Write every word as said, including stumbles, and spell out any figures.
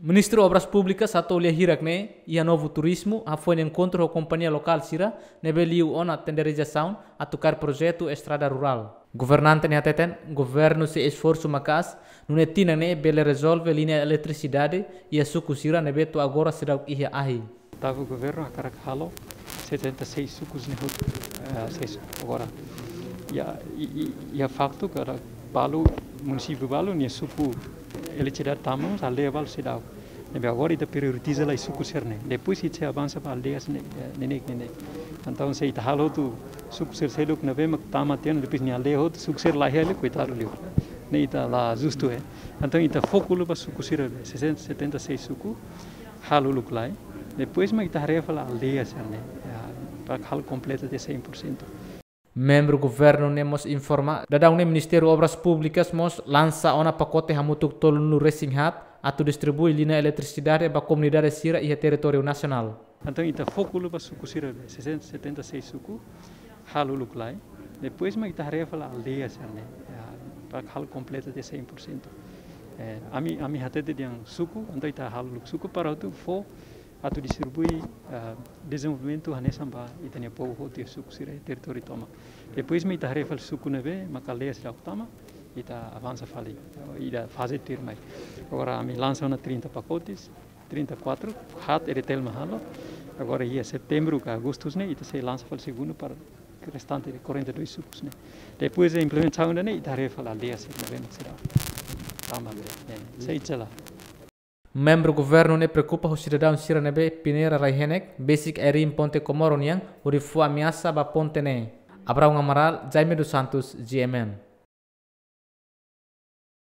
Ministru Obras Públikas hato'o lia hirak ne'e iha Novo Turismo hafoin enkontru ho kompañia lokál sira ne'ebé liu ona tenderizasaun atu kaer projetu estrada rurál. Governante ne'e hateten, governu sei esforsu maka'as nune'e tinan ne'e bele rezolve liña eletrisidade iha suku sira ne'ebé to'o agora seidauk iha ahi. Tava governu hakarak halo setenta e seis sukus ne'e hotu, eh, seis suku agora. Ya, i, i, ya faktu katak balu, munisípiu balu nia suku eletrisidade tama, aldeia balu seidauk. Ne'ebé agora ita prioritiza lai suku sira-ne'e. Depois ita sei avansa ba aldeias ne'e, eh, neineik, neineik. Entaun se ita halo hotu suku sira seluk ne'ebé mak tama tiha ona, depois nia aldeia hotu, suku sira la iha, koitadu liu. Ne'e ita la justu, eh. Entaun ita foku liu ba suku sira be, sessenta, setenta e seis suku, halo uluk lai. Depois mak ita haree fali aldeia sira-ne'e, ya, para halo kompletu de cem por cento. Membru governu ne'e mós informa, daudaun ne'e Ministériu Obras Públikas mós lansa ona pakote hamutuk tolunulu resin haat atu distribui liña eletrisidade ba komunidade sira iha territóriu nasionál. Entaun ita foku liu ba suku sira be, sessenta, setenta e seis suku, halo uluk lai. Depois mak ita haree fali aldeia sira-ne'e, ya, para halo kompletu de cem por cento. Eh, ami, ami hatete dehan suku, entaun ita halo uluk suku para atu fó, atu distribui, ah, dezenvolvimentu hanesan ba ita-nia povu hotu iha suku sira iha territóriu tomak. Depois mak ita haree fali suku ne'ebé mak aldeia seidauk tama, ita avansa fali, ida faze tuirmai. Agora ami lansa ona trinta pacotes, trinta e quatro, haat EDTL mak halo. Agora iha setembru ka agostu ne'e, ita sei lansa fali segundu para restante de quarenta e dois sukus ne'e. Depois de implementasaun ida-ne'e, ita haree fali aldeia sira ne'ebé mak seidauk tama be, eh, sei jela. Membru governu ne'e preokupa ho sidadaun sira ne'ebé peneira rai-henek, besik air-in ponte Comoro nian, hodi fó ameasa ba ponte ne'e. Abraão Amaral, Jaime dos Santos, G M N.